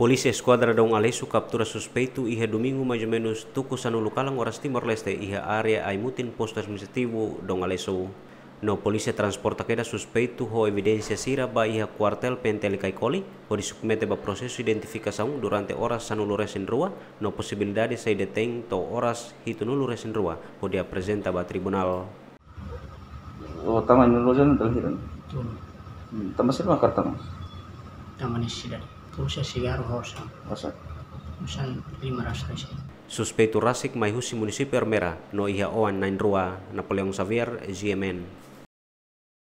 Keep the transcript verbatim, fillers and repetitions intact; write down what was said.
Polísia Eskuadra Dom Aleixo kaptura suspeitu iha Domingu maizumenus tuku sanulu kalan oras Timor-Leste iha área Aimutin, Postu Administrativu Dom Aleixo. No polísia transporta kedas suspeitu ho evidénsia sira ba iha kuartél P N T L Caicoli, hodi submete ba prosesu identifikasaun durante oras sanulu resin rua, no posibilidade sai detein to'o oras hitunulu resin rua, hodi aprezenta ba tribunál. Oh, tama ini loja ni terakhir. Tolu. Hmm, tama sira mak karta no? Tama nia sidade. Pulsa, sigarru, hosan. Hosan. Hosan lima ratus resin. Suspeitu rasik mai husi munisípiu Ermera, no iha oan na'in-rua. Napoleão Xavier, G M N.